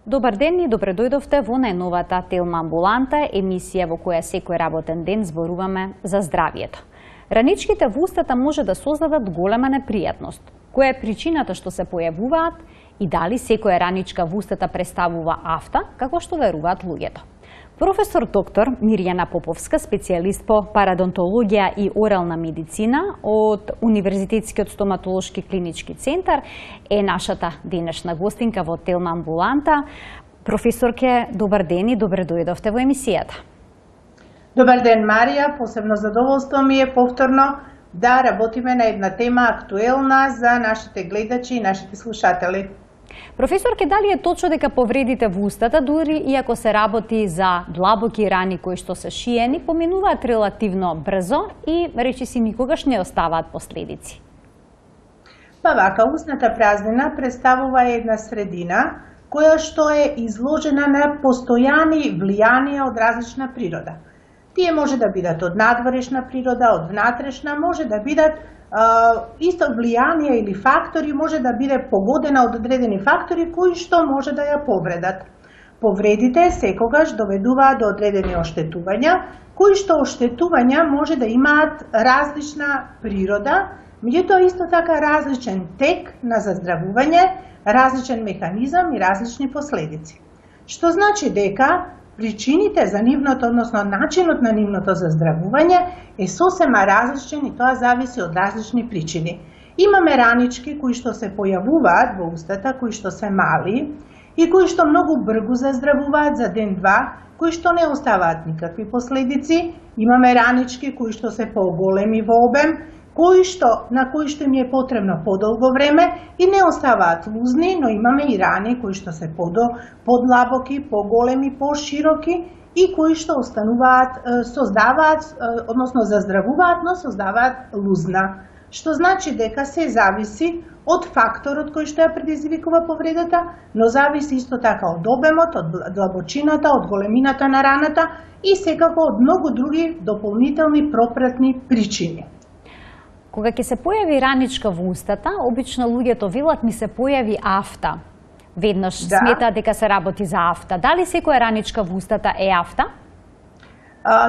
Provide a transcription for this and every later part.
Добар ден и добре дојдовте во најновата Телма амбуланта, емисија во која секој работен ден зборуваме за здравието. Раничките во устата може да создадат голема непријатност. Која е причината што се појавуваат и дали секоја раничка во устата представува афта, како што веруваат луѓето? Професор доктор Мирјана Поповска, специјалист по парадонтологија и орална медицина од Универзитетскиот стоматолошки клинички центар, е нашата денешна гостинка во Телма амбуланта. Професорке, добар ден и добре дојдовте во емисијата. Добар ден, Марија. Посебно задоволство ми е повторно да работиме на една тема актуелна за нашите гледачи и нашите слушатели. Професорке, дали е точно дека повредите во устата, дури и ако се работи за длабоки рани кои што се шиени, поминуваат релативно брзо и речиси никогаш не оставаат последици? Па вака, устната празнина представува една средина која што е изложена на постојани влијанија од различна природа. Тие може да бидат од надворешна природа, од внатрешна, може да бидат исто влијанија или фактори, може да биде погодена од одредени фактори кои што може да ја повредат. Повредите секогаш доведуваат до одредени оштетувања, кои што оштетувања може да имаат различна природа, меѓутоа исто така различен тек на заздравување, различен механизам и различни последици. Што значи дека причините за нивното, односно начинот на нивното заздравување е сосема различен и тоа зависи од различни причини. Имаме ранички кои што се појавуваат во устата, кои што се мали и кои што многу брзо заздравуваат за ден-два, кои што не оставаат никакви последици. Имаме ранички кои што се поголеми во обем, на кои што им е потребно подолго време и не оставаат лузни, но имаме и рани кои што се подлабоки, поголеми, пошироки и кои што создаваат, односно заздравуваат, но создаваат лузна. Што значи дека се зависи од факторот кој што ја предизвикува повредата, но зависи исто така од обемот, од длабочината, од големината на раната и секако од многу други дополнителни пропратни причини. Кога ќе се појави раничка во устата, обично луѓето велат ми се појави афта. Веднаш сметаат дека се работи за афта. Дали секоја раничка во устата е афта?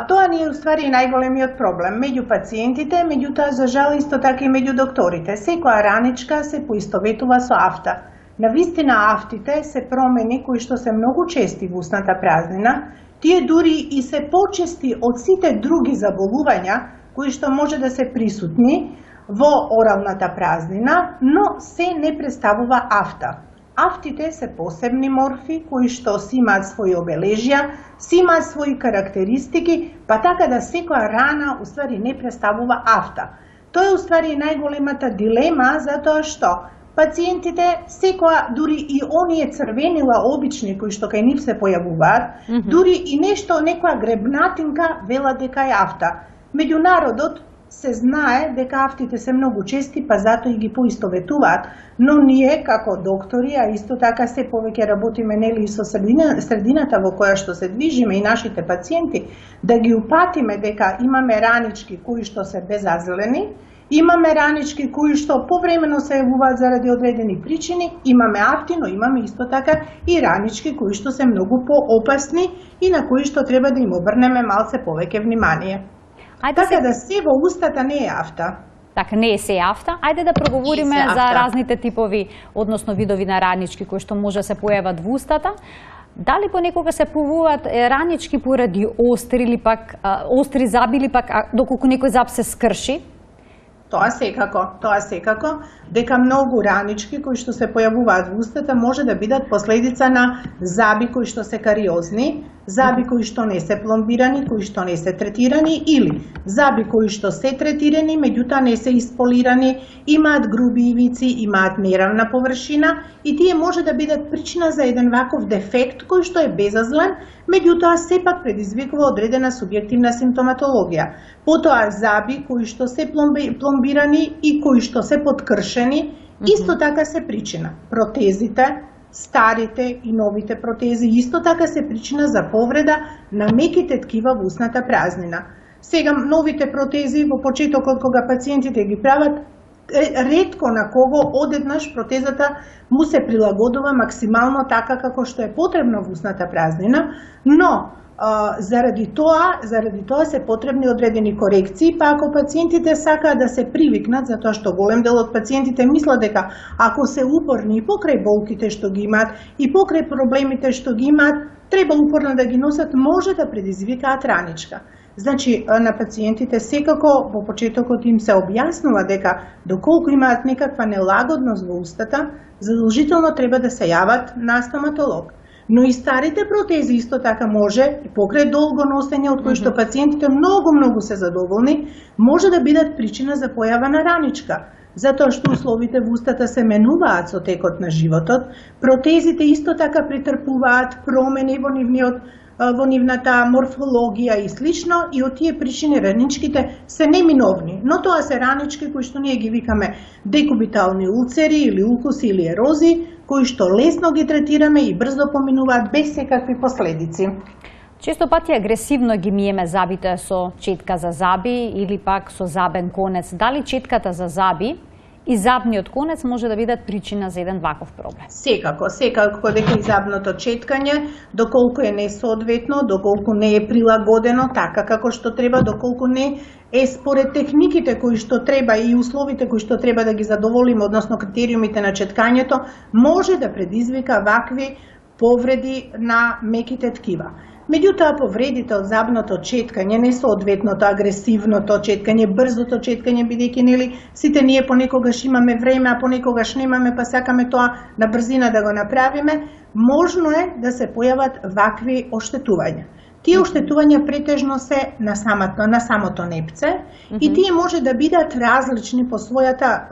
Тоа ни е уствари најголемиот проблем меѓу пациентите, меѓутоа за жал исто така и меѓу докторите. Секоја раничка се поистоветува со афта. Навистина афтите се промени кои што се многу чести во устната празнина. Тие дури и се почести од сите други заболувања кои што може да се присутни во оралната празнина, но се не представува афта. Афтите се посебни морфи кои што си имаат своји обележја, си имаат своји карактеристики, па така да секоја рана уствари не представува афта. Тоа е уствари најголемата дилема, затоа што пациентите секоја, дури и оние црвенила обични кои што кај нив се појавуваат, дури и некоја гребнатинка велат дека е афта. Меѓу народот се знае дека афтите се многу чести, па затоа и ги поистоветуваат, но ние како доктори, а исто така се повеќе работиме нели со средината во која што се движиме и нашите пациенти, да ги упатиме дека имаме ранички кои што се безазлени, имаме ранички кои што повремено се јавуваат заради одредени причини, имаме афти, но имаме исто така и ранички кои што се многу поопасни и на кои што треба да им обрнеме малце повеќе внимание. Така да се во устата не е афта. Така не е се афта. Ајде да проговориме за разните типови, односно видови на ранички кои што може да се појават во устата. Дали понекога се појавуваат ранички поради остри или пак остри заби или пак доколку некој заб се скрши? Тоа секако, дека многу ранички кои што се појавуваат во устата може да бидат последица на заби кои што се кариозни, заби кои што не се пломбирани, кои што не се третирани или заби кои што се третирани, меѓутоа не се isполирани, имаат груби ивици, имаат неравна површина и тие може да бидат причина за еден ваков дефект кој што е безазлен, меѓутоа сепак предизвикува одредена субјективна симптоматологија. Потоа заби кои што се пломбирани и кои што се подкршени, исто така се причина. Протезите, старите и новите протези исто така се причина за повреда на меките ткива во устната празнина. Сега новите протези во почетокот кога пациентите ги прават, ретко на кого одеднаш протезата му се прилагодува максимално така како што е потребно во устната празнина, но заради тоа се потребни одредени корекции, па ако пациентите сакаат да се привикнат, затоа што голем дел од пациентите мислат дека ако се упорни и покрај болките што ги имаат и покрај проблемите што ги имаат, треба упорно да ги носат, може да предизвикаат раничка. Значи, на пациентите секако во почетокот им се објаснува дека доколку имаат некаква нелагодност во устата, задолжително треба да се јават на стоматолог. Но и старите протези исто така може, покрај долго носење од кои што пациентите многу се задоволни, може да бидат причина за појава на раничка. Затоа што условите во устата се менуваат со текот на животот, протезите исто така претрпуваат промени во нивната морфологија и слично, и од тие причини раничките се неминовни, но тоа се ранички кои што ние ги викаме декубитални улцери или укуси или ерози, кои што лесно ги третираме и брзо поминуваат без секакви последици. Често пати агресивно ги миеме забите со четка за заби или пак со забен конец. Дали четката за заби и забниот конец може да бидат причина за еден ваков проблем? Секако дека и забното четкање, доколку е несоодветно, доколку не е прилагодено така како што треба, доколку не е според техниките кои што треба и условите кои што треба да ги задоволиме, односно критериумите на четкањето, може да предизвика вакви повреди на меките ткива. Меѓутоа, повредите од забното четкање, несоодветното, агресивното четкање, брзото четкање, бидејќи нели сите ние понекогаш имаме време, а понекогаш немаме, па сакаме тоа на брзина да го направиме, можно е да се појават вакви оштетувања. Тие оштетувања претежно се на самото непце и тие може да бидат различни по својата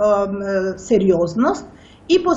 сериозност и по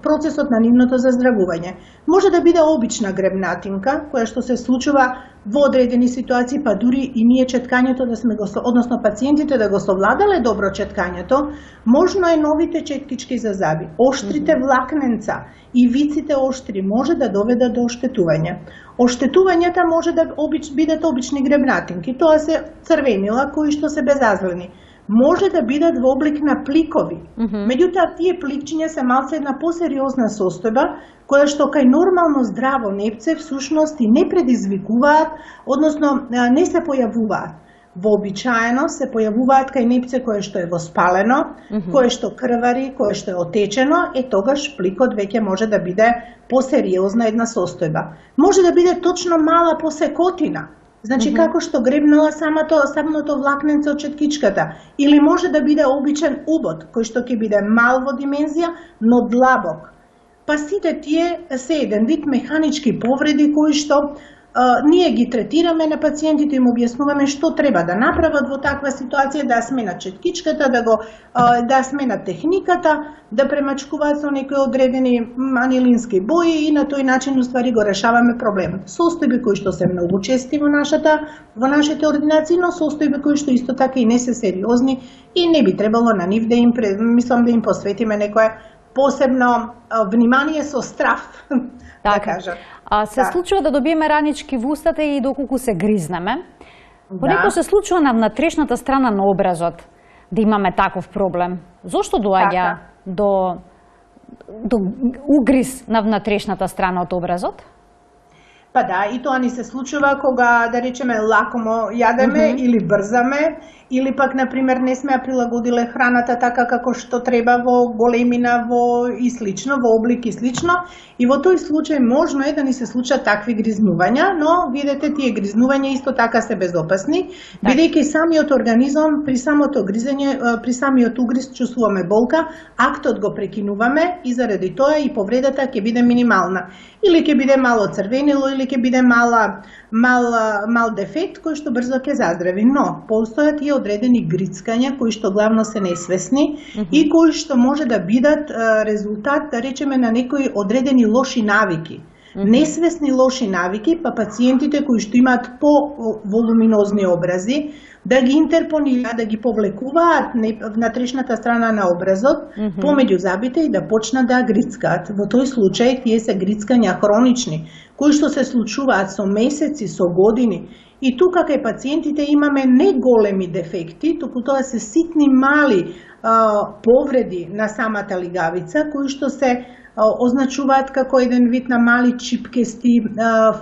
процесот на нивното заздравување. Може да биде обична гребнатинка, која што се случува во одредени ситуации, па дури и ние четкањето односно пациентите да го совладале добро четкањето, можно е новите четкички за заби,оштрите влакненца и виците оштри може да доведат до оштетување. Оштетувањата може да бидат обични гребнатинки, тоа се црвенила кои што се безазлени. Може да бидат во облик на пликови. Меѓутоа, тие пликчиња се малце една посериозна состојба, која што кај нормално здраво непце всушност и не предизвикуваат, односно не се појавуваат. Вообичаено се појавуваат кај непце кое што е воспалено, кое што крвари, кое што е отечено, тогаш пликот веќе може да биде посериозна една состојба. Може да биде точно мала посекотина. Значи, како што гребнала самото влакненце од четкичката. Или може да биде обичен убод, кој што ќе биде мал во димензија, но длабок. Па сите тие се еден вид механички повреди кои што ние ги третираме на пациентите, им објаснуваме што треба да направат во таква ситуација, да сменат четкичката, да сменат техниката, да премачкуваат со некои одредени анилински бои и на тој начин уствари го решаваме проблемот. Состојби кои што се многу чести во нашите ординации, но состојби кои што исто така и не се сериозни и не би требало на нив да им посветиме некое посебно внимание со страв, да кажам. Се случува да добиеме ранички во устата и доколку се гризнеме. Понекогаш се случува на внатрешната страна на образот да имаме таков проблем. Зошто доаѓа до угриз на внатрешната страна од образот? Па да, и тоа ни се случува кога, да речеме, лакомо јадеме или брзаме, или пак, например, не сме ја прилагодиле храната така како што треба во големина и слично, во облик и слично. И во тој случај можно е да ни се случат такви гризнувања, но видете, тие гризнувања исто така се безопасни, бидејќи самиот организам при самото гризење, при самиот угриз чувствуваме болка, актот го прекинуваме и заради тоа и повредата ќе биде минимална. Или ќе биде мало црвенило, или ќе биде мал дефект кој што брзо ќе заздрави. Но постојат и одредени грицкања кои што главно се несвесни и кои што може да бидат резултат, да речеме, на некои одредени лоши навики. Несвесни лоши навики, па пациентите кои што имаат по-волуминозни образи, да ги интерпонираат, да ги повлекуваат внатрешната страна на образот помеѓу забите и да почнат да грицкаат. Во тој случај тие се грицкања хронични, кои што се случуваат со месеци, со години И тука кај пациентите имаме не големи дефекти, туку тоа се ситни мали повреди на самата лигавица, кои што се означуваат како еден вид на мали чипкести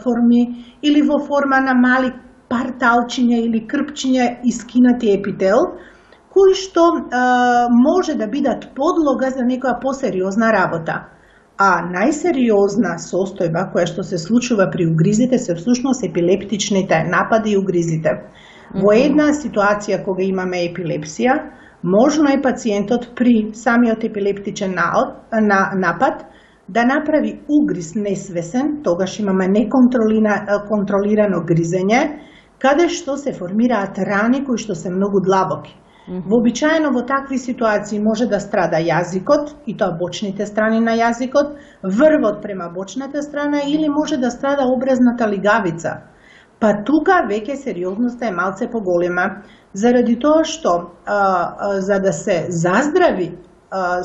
форми или во форма на мали парталчиња или крпчиња искинати епител, кои што може да бидат подлога за некоја посериозна работа. А најсериозна состојба која што се случува при угризите се всушност епилептичните напади и угризите. Во една ситуација кога имаме епилепсија, можно е пациентот при самиот епилептичен напад да направи угриз несвесен, тогаш имаме неконтролирано гризење, каде што се формираат рани кои што се многу длабоки. Вообичаено во такви ситуации може да страда јазикот, и тоа бочните страни на јазикот, врвот према бочната страна или може да страда образната лигавица. Па тука веќе сериозноста е малце поголема, заради тоа што за да се заздрави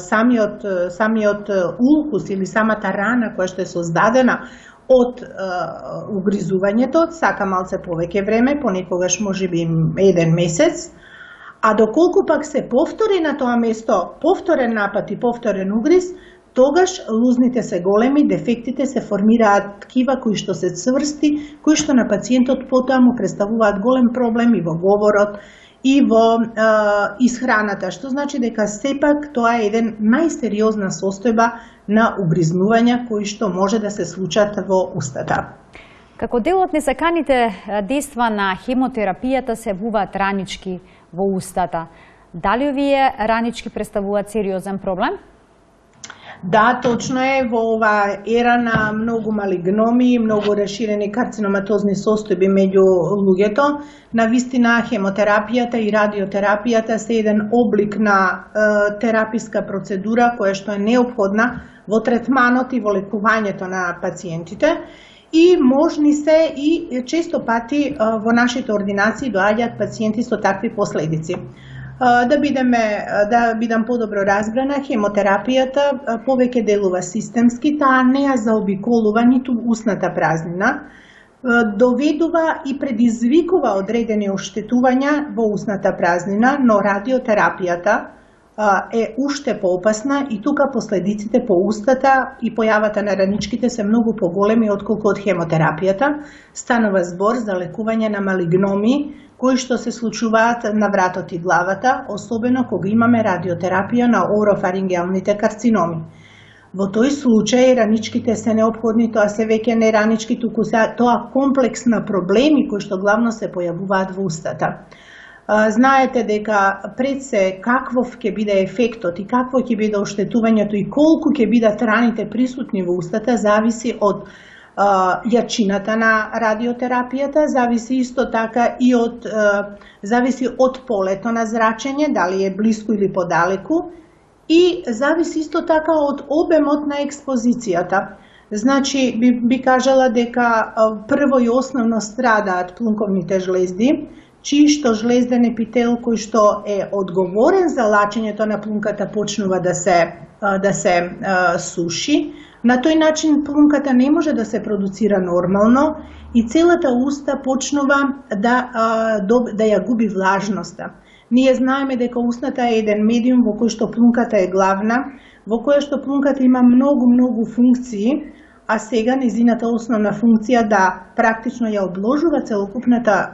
самиот улкус или самата рана која што е создадена од угризувањето, сака малце повеќе време, понекогаш можеби 1 месец, а доколку пак се повтори на тоа место повторен напад и повторен угриз, тогаш лузните се големи, дефектите се формираат ткива кои што се цврсти, кои што на пациентот потоа му представуваат голем проблем и во говорот и во исхраната, што значи дека сепак тоа е еден најсериозна состојба на угризнувања кои што може да се случат во устата. Како дел од несаканите дејства на хемотерапијата се јавуваат ранички во устата. Дали овие ранички представуваат сериозен проблем? Да, точно е, во ова ера на многу малигноми, многу расширени карциноматозни состојби меѓу луѓето, навистина хемотерапијата и радиотерапијата се еден облик на тераписка процедура која што е неопходна во третманот и во лекувањето на пациентите. И можни се и често пати во нашите ординации доаѓаат пациенти со такви последици. Да бидам подобро разбрана, хемотерапијата повеќе делува системски, таа не ја заобиколува ниту устната празнина, доведува и предизвикува одредени оштетувања во устната празнина, но радиотерапијата е уште поопасна и тука последиците по устата и појавата на раничките се многу поголеми отколку од хемотерапијата. Станува збор за лекување на малигноми кои што се случуваат на вратот и главата, особено кога имаме радиотерапија на орофарингеалните карциноми. Во тој случај раничките се неопходни, тоа се веќе не ранички, туку тоа комплекс на проблеми кои што главно се појавуваат во устата. Знаете дека пред се каквов ќе биде ефектот и какво ќе биде оштетувањето и колку ќе бидат раните присутни во устата зависи од јачината на радиотерапијата, зависи исто така и зависи од полето на зрачење, дали е блиску или подалеку, и зависи исто така од обемот на експозицијата. Значи, би кажала дека прво и основно страдаат плунковните жлезди, чии што жлезден епител кој што е одговорен за лачењето на плунката почнува да се суши. На тој начин плунката не може да се продуцира нормално и целата уста почнува да ја губи влажноста. Ние знаеме дека устната е еден медиум во кој што плунката е главна, во која што плунката има многу функции, а сега незината основна функција да практично ја одложува целокупната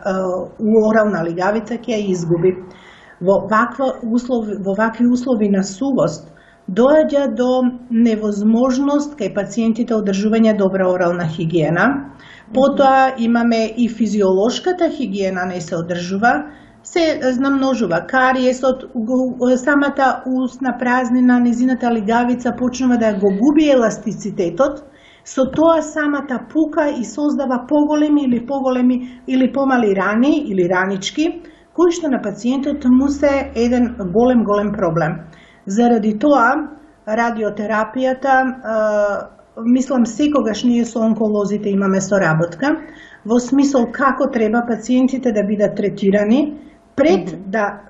орална лигавица ќе ја изгуби. Во вакви услови на сувост доаѓа до невозможност кај пациентите одржување добра орална хигиена. Потоа имаме и физиолошката хигиена не се одржува, се намножува кариесот, самата устна празнина, незината лигавица почнува да го губи еластицитетот, со тоа самата пука и создава поголеми или помали рани или ранички, кои што на пациентот му се еден голем проблем. Заради тоа, радиотерапијата, мислам секогаш ние со онколозите имаме соработка, во смисол како треба пациентите да бидат третирани пред да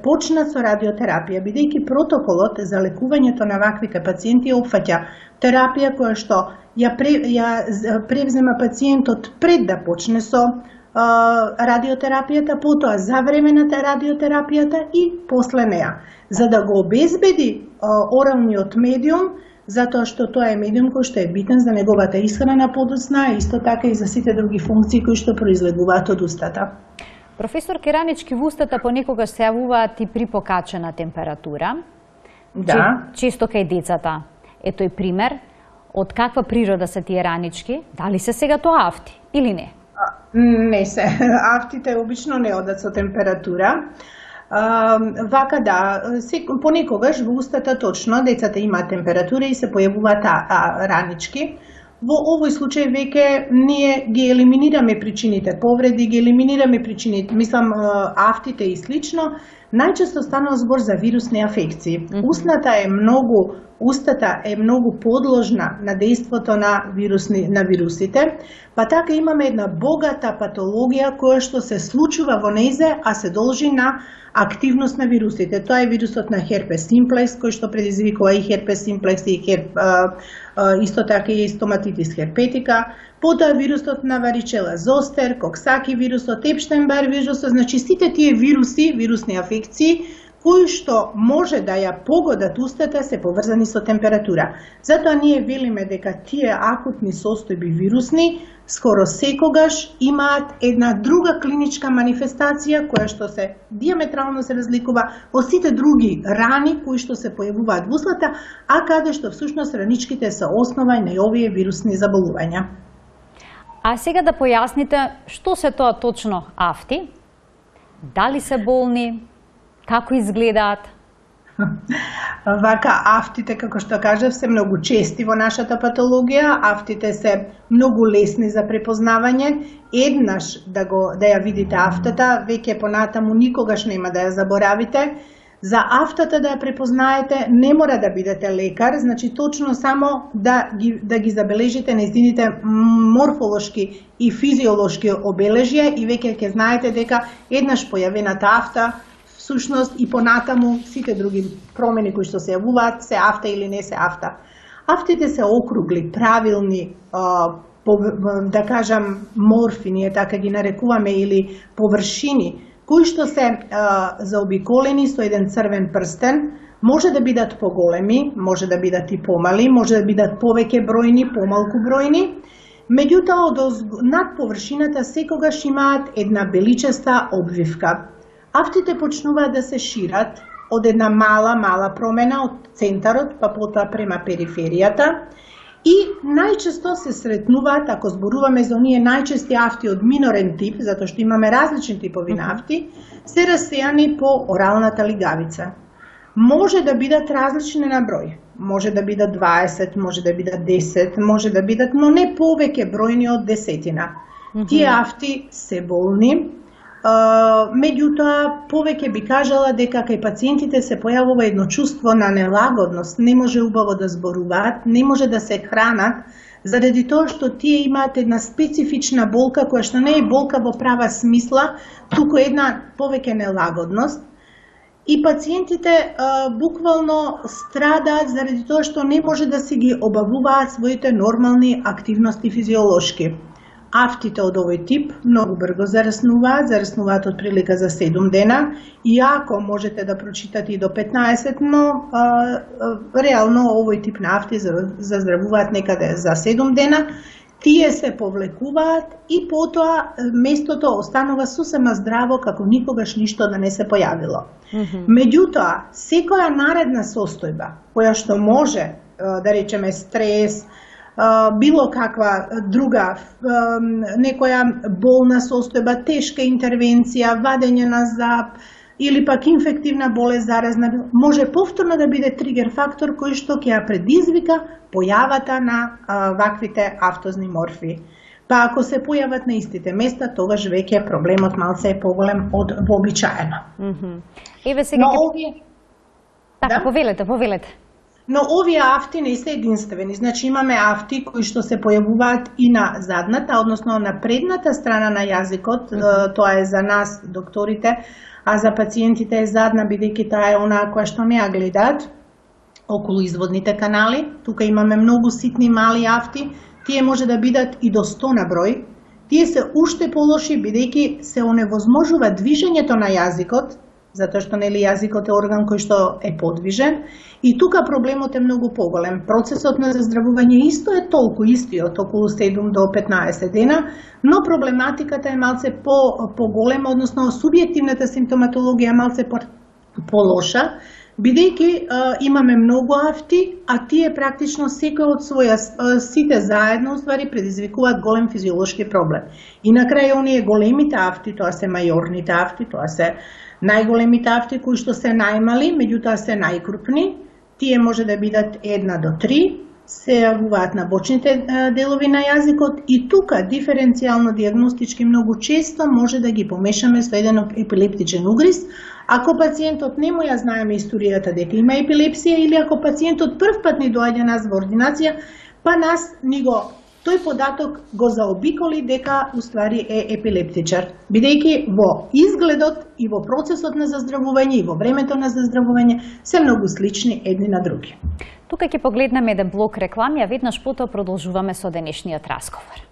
почнат со радиотерапија, бидејќи протоколот за лекувањето на ваквите пациенти опфаќа терапија која што ја превзема пациентот пред да почне со радиотерапијата, потоа за време на радиотерапијата и после неа, за да го обезбеди оралниот медиум, затоа што тоа е медиум кој што е битен за неговата исхрана подоцна, и исто така и за сите други функции кои што произлегуваат од устата. Професор Ранички, во устата понекогаш се јавуваат и при покачена температура. Да. Често кај децата. Ето и пример. Од каква природа се тие ранички? Дали се сега тоа афти или не? Не се. Афтите обично не одат со температура. Вака да, понекогаш во устата точно децата имаат температура и се појавуваат ранички. Во овој случај веќе ние ги елиминираме причините повреди, ги елиминираме причините, афтите и слично. Најчесто станува збор за вирусни афекции. Устата е многу подложна на дејството на вирусите, па така имаме една богата патологија која што се случува во нејзе, а се должи на активност на вирусите. Тоа е вирусот на Herpes simplex, кој што предизвикува и Herpes simplex и исто така и стоматитис херпетика, потоа вирусот на Varicella zoster, Coxsackie вирусот, Epstein-Barr вирусот, значи сите тие вируси, вирусни афекции, кои што може да ја погодат устата, се поврзани со температура. Затоа ние велиме дека тие акутни состојби вирусни скоро секогаш имаат една друга клиничка манифестација која што се диаметрално се разликува од сите други рани кои што се појавуваат во устата, а каде што всушност раничките се основа на овие вирусни заболувања. А сега да појасните што се тоа точно афти? Дали се болни? Како изгледаат? Вака, афтите, како што кажав, се многу чести во нашата патологија. Афтите се многу лесни за препознавање. Еднаш да ја видите афтата, веќе понатаму никогаш нема да ја заборавите. За афтата да ја препознаете не мора да бидете лекар, значи точно само да ги забележите нејзините морфолошки и физиолошки обележја и веќе ќе знаете дека еднаш појавената афта всушност и понатаму сите други промени кои што се јавуваат се афта или не се афта. Афтите се округли, правилни, да кажам морфи, ние така ги нарекуваме, или површини, кои што се заобиколени со еден црвен прстен, може да бидат поголеми, може да бидат и помали, може да бидат повеќе бројни, помалку бројни. Меѓутоа, над површината секогаш имаат една беличеста обвивка. Афтите почнуваат да се шират од една мала промена од центарот, па потоа према периферијата, и најчесто се сретнуваат, ако зборуваме за оние најчести афти од минорен тип, затоа што имаме различни типови на афти, се расејани по оралната лигавица. Може да бидат различни на број. Може да бидат 20, може да бидат 10, може да бидат, но не повеќе бројни од десетина. Тие афти се болни. Меѓутоа, повеќе би кажала дека кај пациентите се појавува едно чувство на нелагодност, не може убаво да зборуваат, не може да се хранат, заради тоа што тие имаат една специфична болка, која што не е болка во права смисла, туку една повеќе нелагодност. И пациентите буквално страдаат заради тоа што не може да си ги обавуваат своите нормални активности физиолошки. Афтите од овој тип многу брзо зараснуваат од прилика за 7 дена, иако можете да прочитате и до 15, но реално овој тип на афти заздравуваат некаде за 7 дена, тие се повлекуваат и потоа местото останува сосема здраво како никогаш ништо да не се појавило. Меѓутоа, секоја наредна состојба, која што може, да речеме стрес, било каква друга, некоја болна состојба, тешка интервенција, вадење на зап или пак инфективна болест заразна, може повторно да биде тригер фактор кој што ќе ја предизвика појавата на ваквите афтозни морфи. Па ако се појават на истите места, тогаш веќе проблемот малце е поголем од вообичаено. Еве сега Така, повелете. Но овие афти не се единствени. Значи имаме афти кои што се појавуваат и на задната, односно на предната страна на јазикот, тоа е за нас, докторите, а за пациентите е задна, бидејќи таа е онаа која што не ја гледаат, околу изводните канали. Тука имаме многу ситни мали афти, тие може да бидат и до 100 на број. тие се уште полоши бидејќи се оневозможува движењето на јазикот, затоа што нели јазикот е орган кој што е подвижен, и тука проблемот е многу поголем. Процесот на заздравување исто е толку истиот, околу 7 до 15 дена, но проблематиката е малце поголема, односно субјективната симптоматологија е малце полоша, бидејќи имаме многу афти, а тие практично секој од сите заедно уствари предизвикуваат голем физиолошки проблем. И на крај оние големите афти, тоа се мајорните афти, тоа се најголемите афти кои што се најмали, меѓутоа се најкрупни, тие може да бидат 1 до 3, се јавуваат на бочните делови на јазикот и тука диференцијално дијагностички многу често може да ги помешаме со еден епилептичен угриз, ако пациентот не му ја знаеме историјата дека има епилепсија или ако пациентот првпат ни доаѓа нас во ординација, па нас тој податок го заобиколи дека уствари е епилептичар, бидејќи во изгледот и во процесот на заздравување и во времето на заздравување се многу слични едни на други. Тука ќе погледнеме еден блок реклами, а веднаш потоа продолжуваме со денешниот разговор.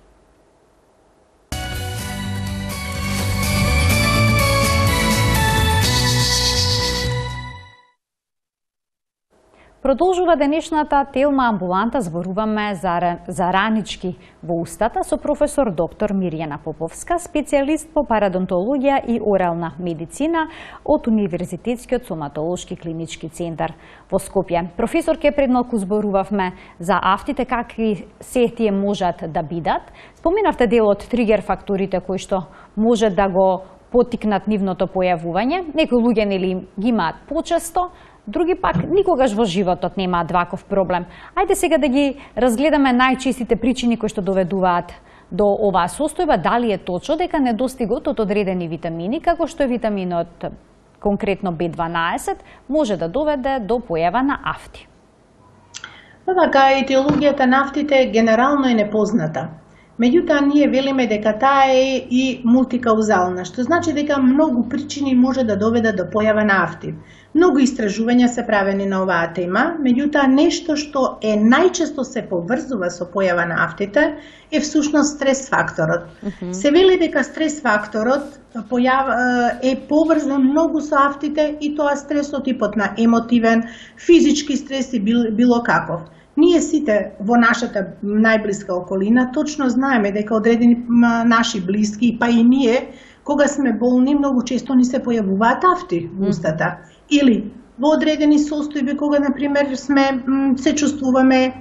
Продолжува денешната телма амбуланта, зборуваме за ранички во устата со професор доктор Мирјана Поповска, специјалист по парадонтологија и орална медицина од Универзитетскиот соматолошки клинички центар во Скопје. Професорке, пред малку зборувавме за афтите, какви се тие можат да бидат. Споменавте дел од тригер факторите кои што може да го поттикнат нивното појавување. Некои луѓе нели ги имаат почесто, други пак никогаш во животот немаат ваков проблем. Ајде сега да ги разгледаме најчестите причини кои што доведуваат до оваа состојба. Дали е точно дека недостигот од одредени витамини, како што е витаминот конкретно B12, може да доведе до појава на афти? Вака, етиологијата на афтите генерално е непозната. Меѓутоа, ние велиме дека таа е и мултикаузална, што значи дека многу причини може да доведат до појава на афти. Многу истражувања се правени на оваа тема, меѓутоа нешто што е најчесто се поврзува со појава на афтите е всушност стрес факторот. Се вели дека стрес факторот е поврзан многу со афтите и тоа стресот типот на емотивен, физички стрес и било каков. Ние сите во нашата најблиска околина точно знаеме дека одредени наши блиски, па и ние, кога сме болни, многу често ни се појавуваат афти во устата. Или во одредени состојби кога, например, се чувствуваме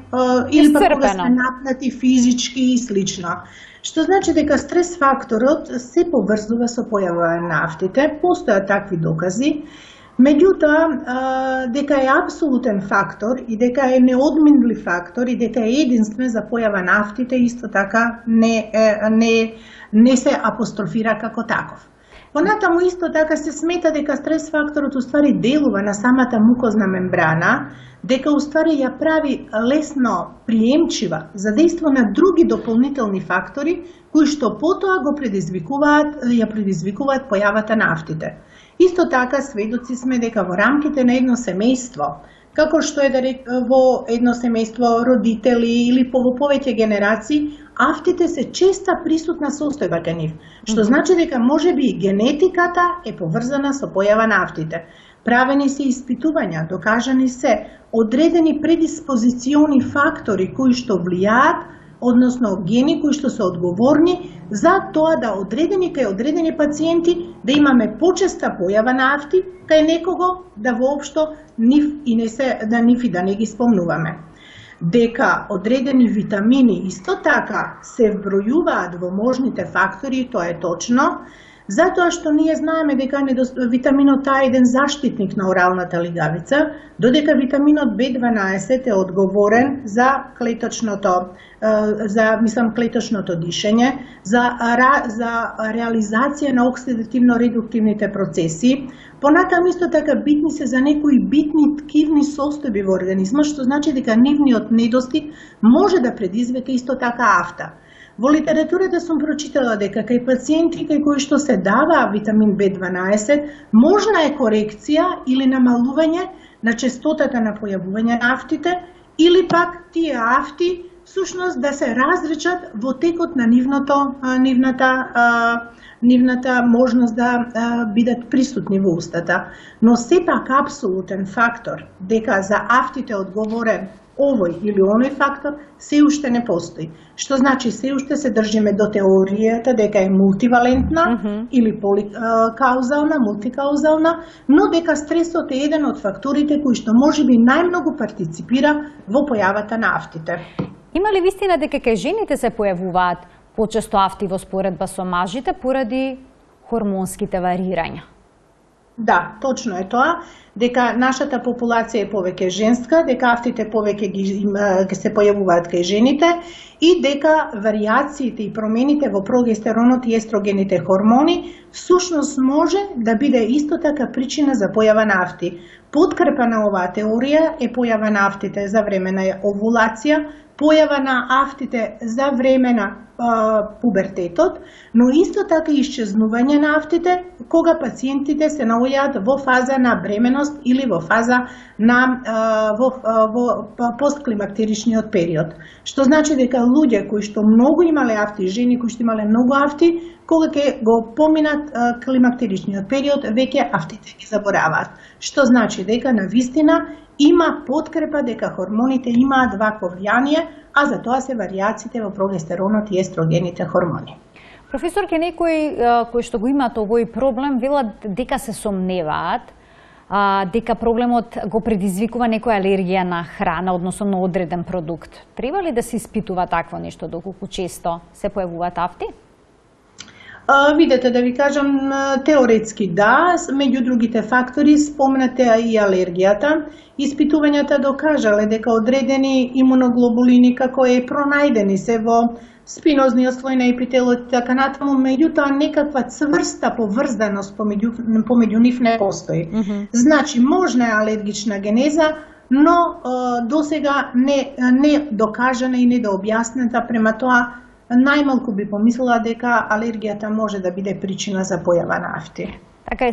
или пак кога сме напнати физички и слично. Што значи дека стрес факторот се поврзува со појава на афтите, постојат такви докази. Меѓутоа, дека е апсолутен фактор и дека е неодминлив фактор и дека е единствен за појава на афтите, исто така не се апострофира како таков. Понатаму исто така се смета дека стрес факторот уствари делува на самата мукозна мембрана, дека уствари ја прави лесно приемчива за дејство на други дополнителни фактори кои што потоа ја предизвикуваат појавата на афтите. Исто така сведоци сме дека во рамките на едно семејство, како што е во едно семејство родители или во повеќе генерации, афтите се честа присутна состојба кај нив, што значи дека можеби генетиката е поврзана со појава на афтите. Правени се испитувања, докажани се одредени предиспозициони фактори кои што влијаат, односно гени кои што се одговорни за тоа да кај одредени пациенти да имаме почеста појава на афти, кај некого да воопшто нив и да не ги спомнуваме. Дека одредени витамини исто така се вбројуваат во можните фактори, тоа е точно, затоа што ние знаеме дека витаминот А е еден заштитник на оралната лигавица, додека витаминот B12 е одговорен за клеточното дишење, за реализација на оксидативно-редуктивните процеси. Понатаму исто така битни се за некои битни ткивни состојби во организмот, што значи дека нивниот недостиг може да предизвика исто така афта. Во литературата сум прочитала дека кај пациенти кај кои што се дава витамин B12, можна е корекција или намалување на честотата на појавување на афтите, или пак тие афти всушност да се разречат во текот на нивната можност да бидат присутни во устата. Но сепак апсолутен фактор дека за автите одговорен овој или оној фактор се уште не постои. Што значи се уште се држиме до теоријата дека е мултивалентна или поликаузална, мултикаузална, но дека стресот е еден од факторите кои што можеби најмногу партиципира во појавата на автите. Има ли вистина дека кај жените се појавуваат почесто афти во споредба со мажите поради хормонските варирања? Да, точно е тоа, дека нашата популација е повеќе женска, дека автите повеќе ги се појавуваат кај жените и дека вариациите и промените во прогестеронот и естрогените хормони всушност може да биде исто така причина за појава на афти. Подкрепа на оваа теорија е појава на афтите за време на овулација, појава на афтите за време на пубертетот, но исто така и исчезнување на афтите кога пациентите се наоѓаат во фаза на бременост или во фаза на во постклимактеричниот период. Што значи дека луѓе кои што многу имале афти, жени кои што имале многу афти, кога ќе го поминат климактеричниот период, веќе афтите ги забораваат. Што значи дека навистина има подкрепа дека хормоните имаат вакво влијание, а за тоа се вариациите во прогестеронот и естрогените хормони. Професор, ке некои кои што го имаат овој проблем велат дека се сомневаат дека проблемот го предизвикува некоја алергија на храна, односно на одреден продукт. Треба ли да се испитува такво нешто доколку често се појавуваат афти? Видете, да ви кажам, теоретски да, меѓу другите фактори спомнате и алергијата. Испитувањата докажале дека одредени имуноглобулини како е пронајдени се во спинозниот слој на епителот и така натаму, меѓутоа некаква цврста поврзаност помеѓу нив не постои. Значи, можна е алергична генеза, но досега не докажана и не дообјаснета, према тоа најмалку би помислила дека алергијата може да биде причина за појава на афти. Така,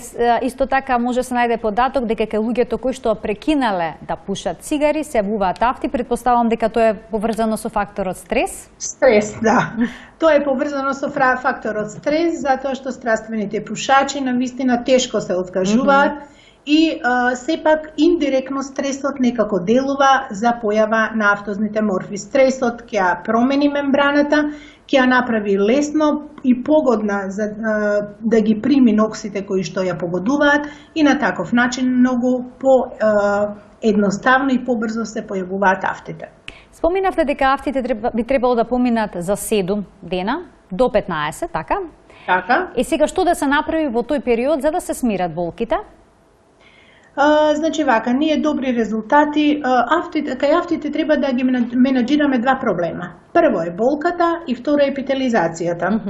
исто така може се најде податок дека кај луѓето кои што прекинале да пушат цигари се јавуваат афти, претпоставам дека тоа е поврзано со факторот стрес? Стрес, да. Тоа е поврзано со факторот стрес, затоа што страствените пушачи навистина тешко се откажуваат и сепак индиректно стресот некако делува за појава на афтозните морфи. Стресот ќе ја промени мембраната, ќе ја направи лесно и погодна за да ги прими ноксите кои што ја погодуваат и на таков начин многу едноставно и побрзо се појавуваат афтите. Споминавте дека афтите би требало да поминат за 7 дена до 15, така? Така. И сега што да се направи во тој период за да се смират болките? Значи вака, ние добри резултати, кај афтите треба да ги менаџираме два проблема. Прво е болката и второ е епителизацијата.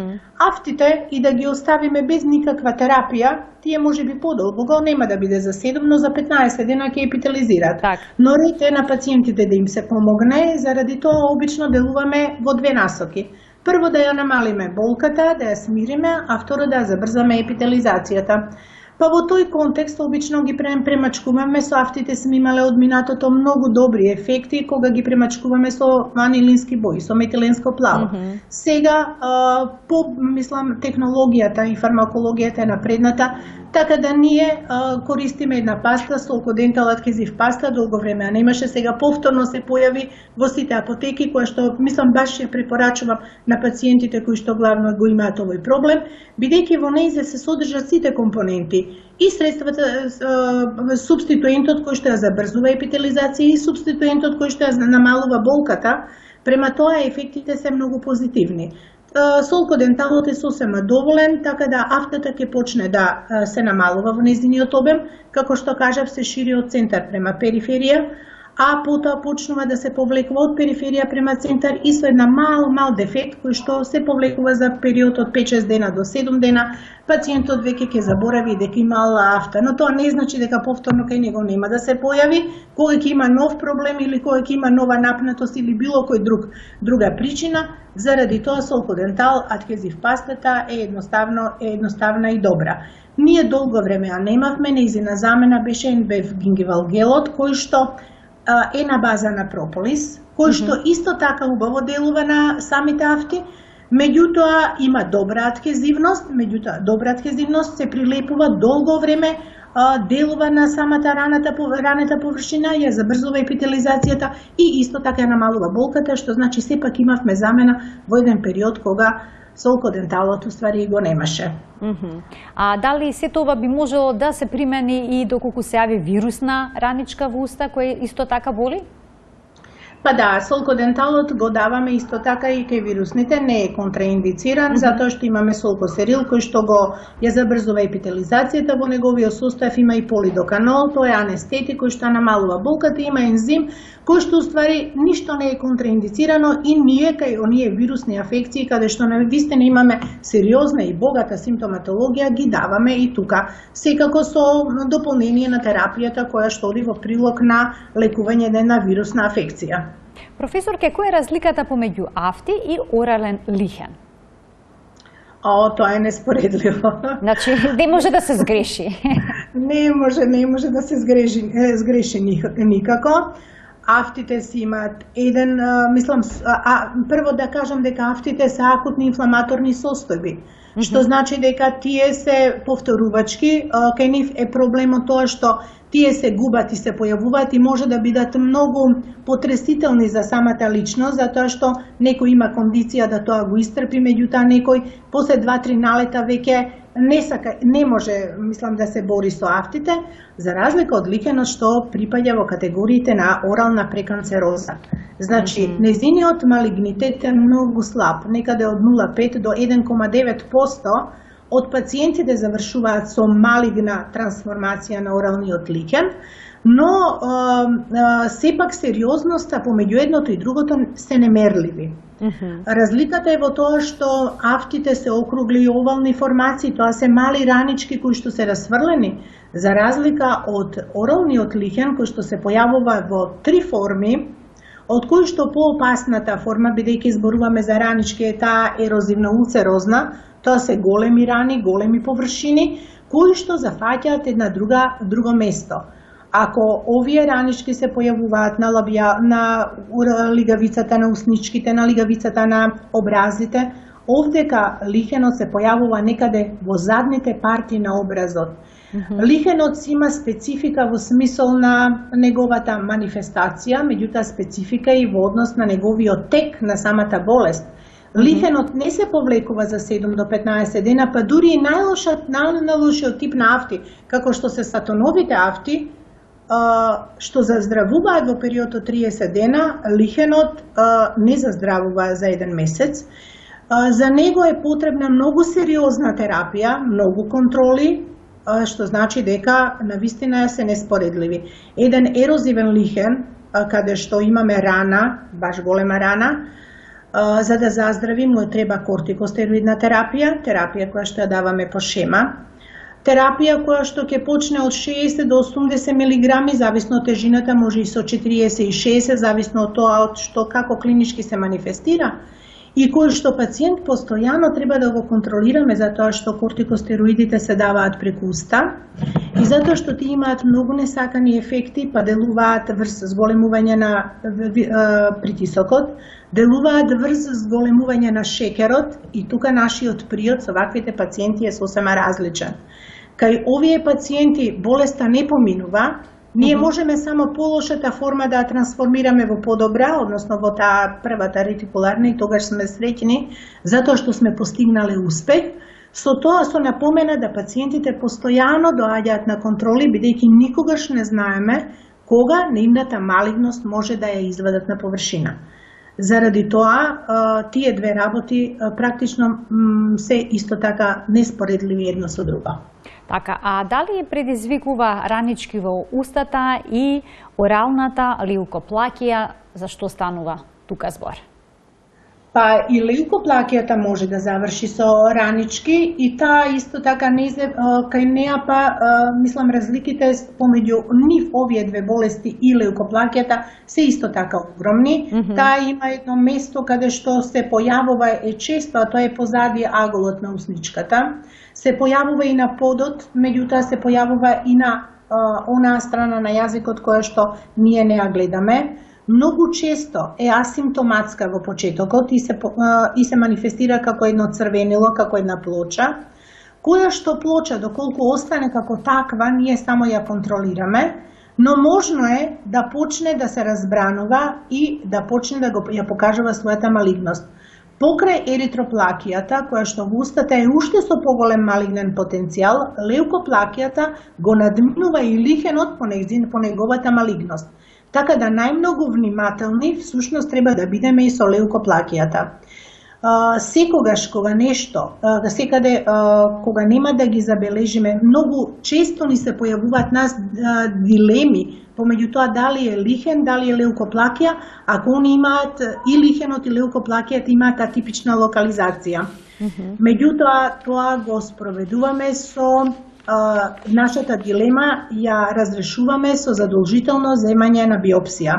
Афтите и да ги оставиме без никаква терапија, тие може би подолго, нема да биде за 7, но за 15 дена ќе епителизираат. Так. Но ред е на пациентите да им се помогне, заради тоа обично делуваме во две насоки. Прво да ја намалиме болката, да ја смириме, а второ да ја забрзаме епителизацијата. Па во тој контекст обично ги премачкуваме со афтите, сме имале од минатото многу добри ефекти кога ги премачкуваме со анилински бои, со метиленско плаво. Сега, мислам, технологијата и фармакологијата е напредната, така да ние користиме една паста, Solco-Dental Adhesive паста, долго време немаше, сега повторно се појави во сите апотеки, која што, мислам, баш ја препорачувам на пациентите кои што главно го имаат овој проблем, бидејќи во нејзе се содржат сите компоненти, и средствата, субституентот кој што ја забрзува епителизација и субституентот кој што ја намалува болката, према тоа ефектите се многу позитивни. Solco-Dentalот е сосема доволен, така да афтата ќе почне да се намалува во нејзиниот обем, како што кажав, се шири од центар према периферија, а потоа почнува да се повлекува од периферија према центар и со една мал дефект кој што се повлекува за период од 5-6 дена до 7 дена, пациентот веќе ќе заборави дека имала афта, но тоа не значи дека повторно кај него нема да се појави, кога ќе има нов проблем или кога ќе има нова напнатост или било кој друга причина. Заради тоа Solco-Dental Adhesive пастата е едноставна и добра. Ние долго време ја немавме, нејзина замена беше NBF гингивал гелот, кој што е на база на прополис, кој што исто така убаво делува на самите афти, меѓутоа има добра адхезивност, добра адхезивност се прилепува долго време, делува на самата раната површина, ја забрзува епителизацијата и исто така ја намалува болката, што значи сепак имавме замена во еден период кога солкоденталот уствари го немаше. А дали сето ова би можело да се примени и доколку се јави вирусна раничка во уста која исто така боли? Па да, солкоденталот го даваме исто така и кај вирусните, не е контраиндициран, затоа што имаме солкосерил кој што го ја забрзува епителизацијата, во неговиот состав има и полидоканол, тоа е анестетик кој што намалува болката, има ензим кој што уствари ништо не е контраиндицирано и ние кај оние вирусни афекции каде што навистина имаме сериозна и богата симптоматологија ги даваме и тука, секако со дополнение на терапијата која што оди во прилог на лекување на вирусна афекција. Професорке, која е разликата помеѓу афти и орален лихен? Тоа е неспоредливо. Значи, не може да се сгреши. Не може да се сгреши никако. Афтите си имаат еден, прво да кажам дека афтите се акутни инфламаторни состојби, што значи дека тие се повторувачки, кај нив е проблемот тоа што тие се губат и се појавуваат и може да бидат многу потресителни за самата личност, затоа што некој има кондиција да тоа го истрпи, меѓутоа некој после 2-3 налета веќе не може, да се бори со афтите, за разлика од лихенот што припаѓа во категориите на орална преканцероза. Значи, незиниот малигнитет е многу слаб, некаде од 0,5 до 1,9% од пациентите завршуваат со малигна трансформација на оралниот лихен, но сепак сериозноста помеѓу едното и другото се немерливи. Разликата е во тоа што афтите се округли и овални формации, тоа се мали ранички кои што се расфрлени, за разлика од оралниот лихен кој што се појавува во 3 форми, од кои што поопасната форма, бидејќи зборуваме за ранички, е таа ерозивно-улцерозна, тоа се големи рани, големи површини, кои што зафаќаат една друго место. Ако овие ранички се појавуваат на лигавицата на усничките, на лигавицата на образите, овдека лихенот се појавува некаде во задните парти на образот. Лихенот си има специфика во смисол на неговата манифестација, меѓутоа специфика и во однос на неговиот тек на самата болест. Лихенот не се повлекува за 7 до 15 дена, па дури и најлошиот тип на афти, како што се сатоновите афти, што заздравуваат во период од 30 дена, лихенот не заздравува за 1 месец. За него е потребна многу сериозна терапија, многу контроли, што значи дека навистина се неспоредливи. Еден ерозивен лихен, каде што имаме рана, баш голема рана, за да заздрави му треба кортикостероидна терапија која што ја даваме по шема, терапија која што ќе почне од 60 до 80 мг, зависно од тежината, може и со 40 и 60, зависно од тоа што како клинички се манифестира, и кој што пациент постојано треба да го контролираме, затоа што кортикостероидите се даваат преку уста и затоа што ти имаат многу несакани ефекти, па делуваат врз зголемување на притисокот, делуваат врз зголемување на шекерот и тука нашиот приод со ваквите пациенти е сосема различен. Кај овие пациенти болеста не поминува, ние можеме само полошата форма да ја трансформираме во подобра, односно во таа првата ретикуларна, и тогаш сме среќни затоа што сме постигнале успех. Со тоа со напомена да пациентите постојано доаѓаат на контроли, бидејќи никогаш не знаеме кога нивната малигност може да ја извадат на површина. Заради тоа, тие две работи практично се исто така неспоредливи едно со друго. Така, а дали предизвикува ранички во устата и оралната леукоплакија, за што станува тука збор? Па и леукоплакијата може да заврши со ранички и таа исто така кај неа мислам разликите помеѓу нив овие две болести и леукоплакијата се исто така огромни. Таа има едно место каде што се појавува често, а тоа е позади аголот на усничката. Се појавува и на подот, меѓутоа се појавува и на онаа страна на јазикот која што ние не ја гледаме. многу често е асимптоматска во почетокот и се манифестира како едно црвенило, како една плоча, која што плоча, доколку остане како таква, ние само ја контролираме, но можно е да почне да се разбранува и да почне да ја покажува својата малигност. Покрај еритроплакијата, која што во устата е уште со поголем малигнен потенцијал, леукоплакијата го надминува и лихенот по неговата малигност. Така да најмногу внимателни всушност треба да бидеме и со леукоплакијата. Секогаш кога нешто, секаде кога нема да ги забележиме, многу често ни се појавуваат нас дилеми помеѓу тоа дали е лихен, дали е леукоплакија, ако они имаат и лихенот и леукоплакијата имаат атипична локализација. Меѓутоа, тоа го спроведуваме со нашата дилема, ја разрешуваме со задолжително земање на биопсија.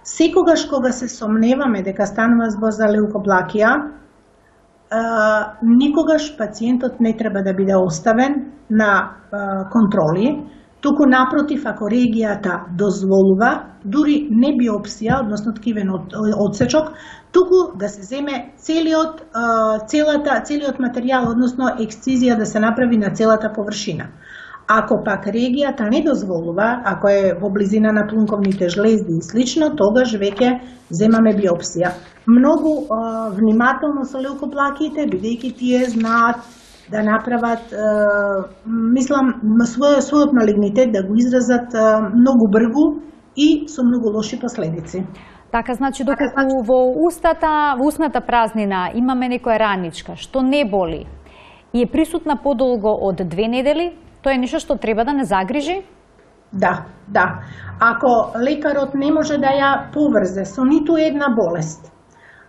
Секогаш кога се сомневаме дека станува збор за леукоплакија, никогаш пациентот не треба да биде оставен на контроли, туку напротив, ако регијата дозволува, дури не биопсија, односно ткивен одсечок, туку да се земе целиот материјал, односно ексцизија да се направи на целата површина. Ако пак регијата не дозволува, ако е во близина на плунковните жлезди и слично, тогаш веќе земаме биопсија. Многу внимателно со леукоплакиите, бидејќи тие знаат да направат, мислам, својот малигнитет да го изразат многу брзо и со многу лоши последици. Така, значи, доколку во устната празнина имаме некоја раничка што не боли и е присутна подолго од 2 недели, тоа е нешто што треба да не загрижи? Да. Ако лекарот не може да ја поврзе со ниту една болест,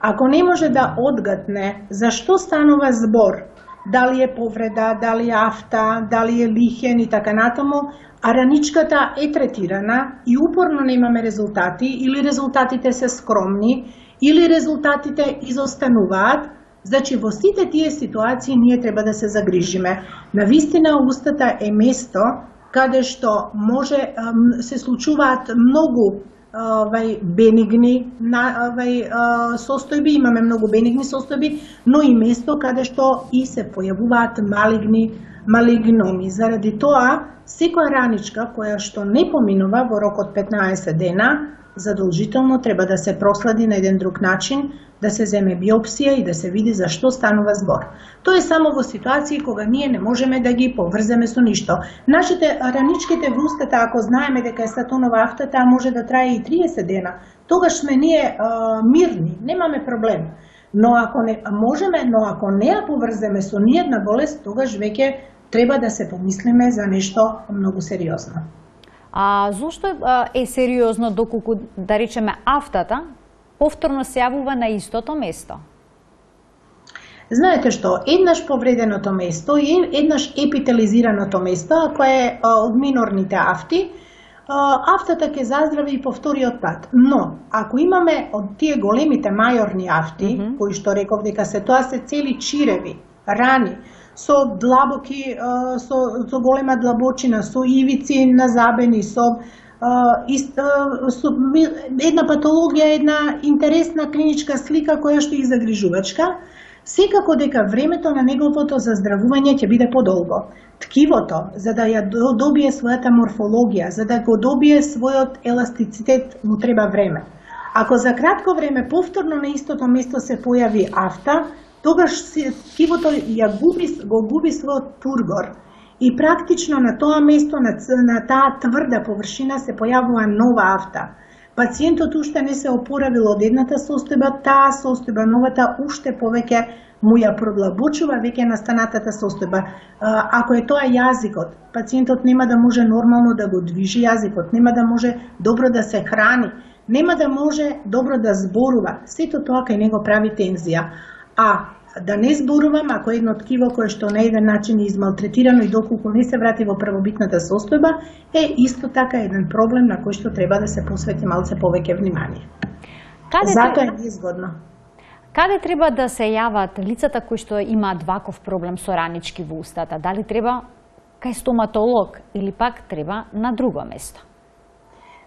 ако не може да одгатне зашто станува збор, дали е повреда, дали е афта, дали е лихен и така натаму, а раничката е третирана и упорно немаме резултати, или резултатите се скромни, или резултатите изостануваат, значи во сите тие ситуации ние треба да се загрижиме. Навистина устата е место каде што може се случуваат многу бенигни состојби, имаме многу бенигни состојби, но и место каде што и се појавуваат малигноми. Заради тоа, секоја раничка која што не поминува во рок од 15 дена, задолжително треба да се проследи на еден друг начин, да се земе биопсија и да се види зашто станува збор. Тоа е само во ситуации кога ние не можеме да ги поврземе со ништо. Нашите раничките во устата, ако знаеме дека е статонова афта, таа може да трае и 30 дена. Тогаш сме ние мирни, немаме проблем. Но ако не можеме, но ако не ја поврземе со ниедна болест, тогаш веќе треба да се помислиме за нешто многу сериозно. А зошто е сериозно доколку, да речеме, афтата повторно се јавува на истото место? Знаете што, еднаш повреденото место и еднаш епителизираното место, ако е од минорните афти, афтата ќе заздрави и по вториот пат. Но, ако имаме од тие големите мајорни афти, кои што реков дека тоа се цели чиреви, рани, со длабоки, со голема длабочина, со ивици на забени, со една патологија, една интересна клиничка слика која што е загрижувачка, секако дека времето на неговото заздравување ќе биде подолго. Ткивото, за да ја добие својата морфологија, за да го добие својот еластицитет, му треба време. Ако за кратко време повторно на истото место се појави афта, тогаш ткивото го губи својот тургор и практично на тоа место, на таа тврда површина се појавува нова афта. Пациентот уште не се опоравил од едната состојба, таа состојба, новата, уште повеќе му ја продлабочува веќе настанатата состојба. Ако е тоа јазикот, пациентот нема да може нормално да го движи јазикот, нема да може добро да се храни, нема да може добро да зборува. Сето тоа кај него прави тензија. А да не зборувам, ако едно ткиво кое што на еден начин е измалтретирано и доколку не се врати во првобитната состојба, е исто така еден проблем на кој што треба да се посвети малце повеќе внимание. Затоа е неизгодно. Каде треба да се јават лицата кои што имаат ваков проблем со ранички во устата? Дали треба кај стоматолог или пак треба на друго место?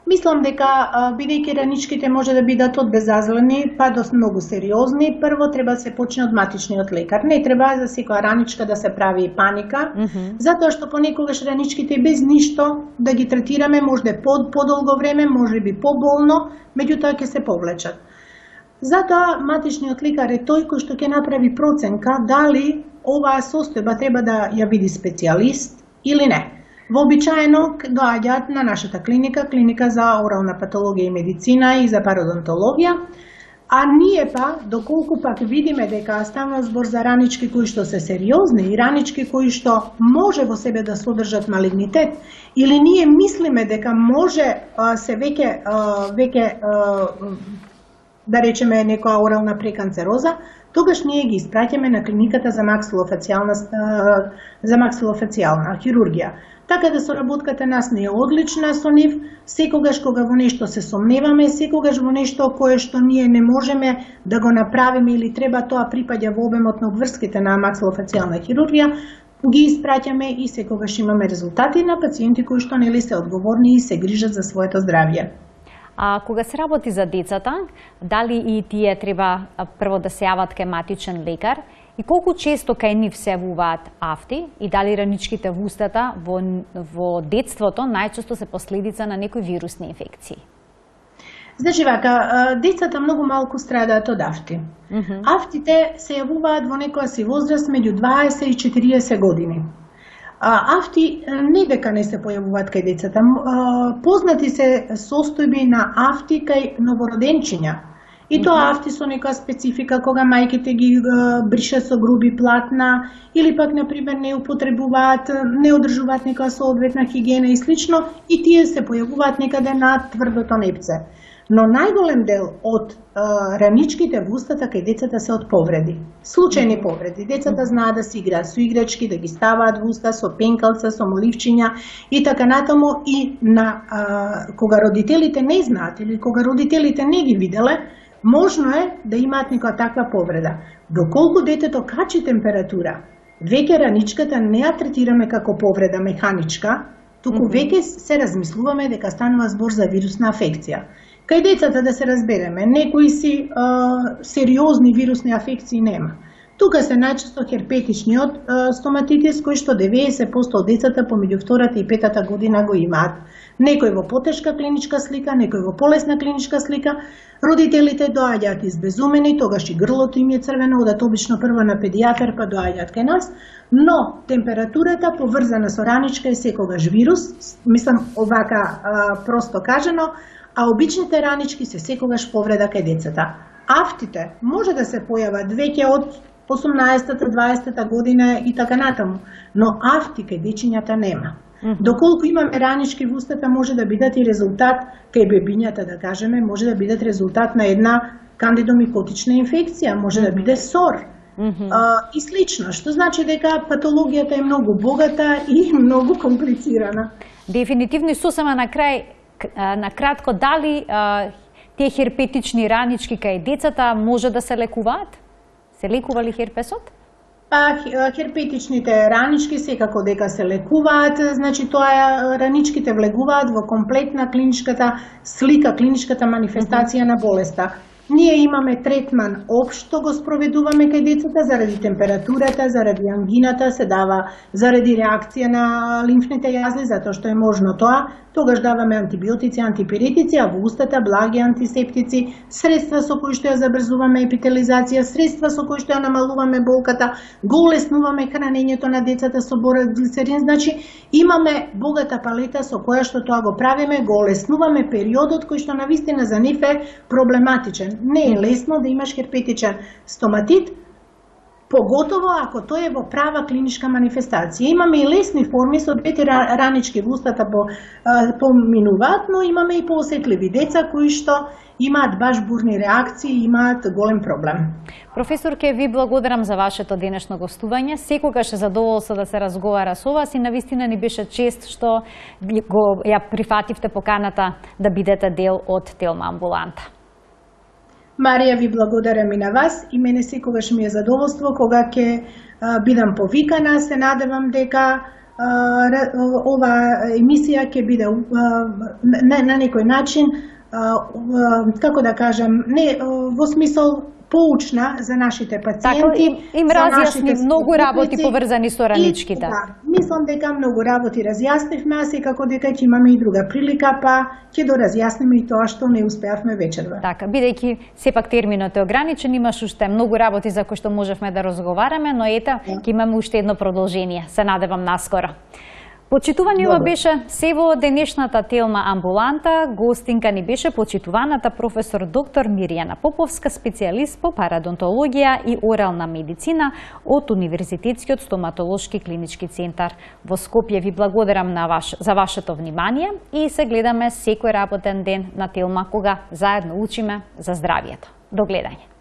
Мислам дека, бидејќи раничките може да бидат од безазлени па до многу сериозни, прво треба да се почне од матичниот лекар. Не треба за секоја раничка да се прави паника, затоа што понекогаш раничките без ништо да ги третираме може да подолго време, може би поболно, меѓутоа ќе се повлечат. Затоа матичниот лекар е тој кој што ќе направи проценка дали оваа состојба треба да ја види специјалист или не. Вообичаено доаѓаат на нашата клиника за орална патологија и медицина и за пародонтологија, а ние па, доколку пак видиме дека станува збор за ранички кои што се сериозни и ранички кои што може во себе да содржат малигнитет, или ние мислиме дека може се веќе да речеме некоја орална преканцероза, тогаш ние ги испраќаме на клиниката за максилофацијална хирургија. Така да соработката нас не е одлична со нив, секогаш кога во нешто се сомневаме, секогаш во нешто кое што ние не можеме да го направиме или треба тоа припаѓа во обемот на обврските на максилофацијална хирургија, ги испраќаме и секогаш имаме резултати на пациенти кои што нели се одговорни и се грижат за своето здравје. А кога се работи за децата, дали и тие треба прво да се јават кај матичен лекар и колку често кај нив се јавуваат афти и дали раничките во устата во детството најчесто се последица на некои вирусни инфекции? Значи вака, децата многу малку страдаат од афти. Афтите се јавуваат во некоја си возраст меѓу 20 и 40 години. Афти не дека не се појавуваат кај децата. Познати се состојби на афти кај новороденчиња. И тоа афти со некоја специфика кога мајките ги бришат со груби платна или пак например не употребуваат, не одржуваат некоја соодветна хигиена и слично, и тие се појавуваат некаде на тврдото непце. Но најголем дел од раничките во устата кај децата се од повреди. Случајни повреди. Децата знаат да си играат со играчки, да ги ставаат во уста со пенкалца, со моливчиња и така натаму, и кога родителите не знаат или кога родителите не ги виделе, можно е да имаат некоја таква повреда. Доколку детето качи температура, веќе раничката не ја третираме како повреда механичка, туку веќе се размислуваме дека станува збор за вирусна афекција. Кај децата, да се разбереме, некои си сериозни вирусни афекции нема. Тука се најчесто херпетичниот стоматитис, кој што 90% од децата помеѓу 2-та и 5-та година го имаат. Некој во потешка клиничка слика, некој во полесна клиничка слика. Родителите доаѓаат избезумени, тогаш и грлото им е црвено, одат обично прво на педијатар, па доаѓаат кај нас, но температурата поврзана со раничка е секогаш вирус, мислам овака просто кажано, а обичните ранички се секогаш повреда кај децата. Афтите може да се појават веќе од 18-та, 20-та година и така натаму, но афти кај дечињата нема. Доколку имаме ранички во устата, може да бидат и резултат кај бебињата, да кажеме, може да бидат резултат на една кандидомикотична инфекција, може да биде сор и слично, што значи дека патологијата е многу богата и многу комплицирана. Дефинитивно и сосема на крај, на кратко, дали тие херпетични ранички кај децата може да се лекуваат? Се лекува ли херпесот? Херпетичните ранички секако дека се лекуваат, значи тоа раничките влегуваат во комплетна клиничката слика, клиничката манифестација на болеста. Ние имаме третман општо го спроведуваме кај децата заради температурата, заради ангината, се дава заради реакција на лимфните јазни, затоа што е можно тоа. Тогаш даваме антибиотици, антипиретици, а во устата благи антисептици, средства со кои што ја забрзуваме епителизација, средства со кои што ја намалуваме болката, го олеснуваме хранењето на децата со борглицерин. Значи имаме богата палета со која што тоа го правиме, го олеснуваме периодот кој што навистина за нив е проблематичен. Не е лесно да имаш херпетичен стоматит, поготово ако тој е во права клиничка манифестација. Имаме и лесни форми, со двете ранички во устата поминуваат, но имаме и поосетливи деца кои што имаат баш бурни реакции и имаат голем проблем. Професор, ке ви благодарам за вашето денешно гостување. Секогаш е задоволство да се разговара со вас и навистина ни беше чест што ја прифативте поканата да бидете дел од Телма амбуланта. Марија, ви благодарам и на вас и мене секогаш ми е задоволство кога ќе бидам повикана. Се надевам дека ова емисија ќе биде на некој начин, како да кажем, не во смисол поучна за нашите пациенти. Така, им разјасни многу работи поврзани со раничките. Да, мислам дека многу работи разјаснивме, а секако дека ќе имаме и друга прилика, па ќе доразјасниме и тоа што не успеавме вечерва. Така, бидејќи сепак терминот е ограничен, имаш уште многу работи за кои што можевме да разговараме, но ета, ќе имаме уште едно продолжение. Се надевам наскоро. Почитувани ова беше се во денешната Телма амбуланта. Гостинка ни беше почитуваната професор доктор Мирјана Поповска, специјалист по парадонтологија и орална медицина од Универзитетскиот стоматолошки клинички центар во Скопје. Ви благодарам за вашето внимание и се гледаме секој работен ден на Телма, кога заедно учиме за здравието. До гледање.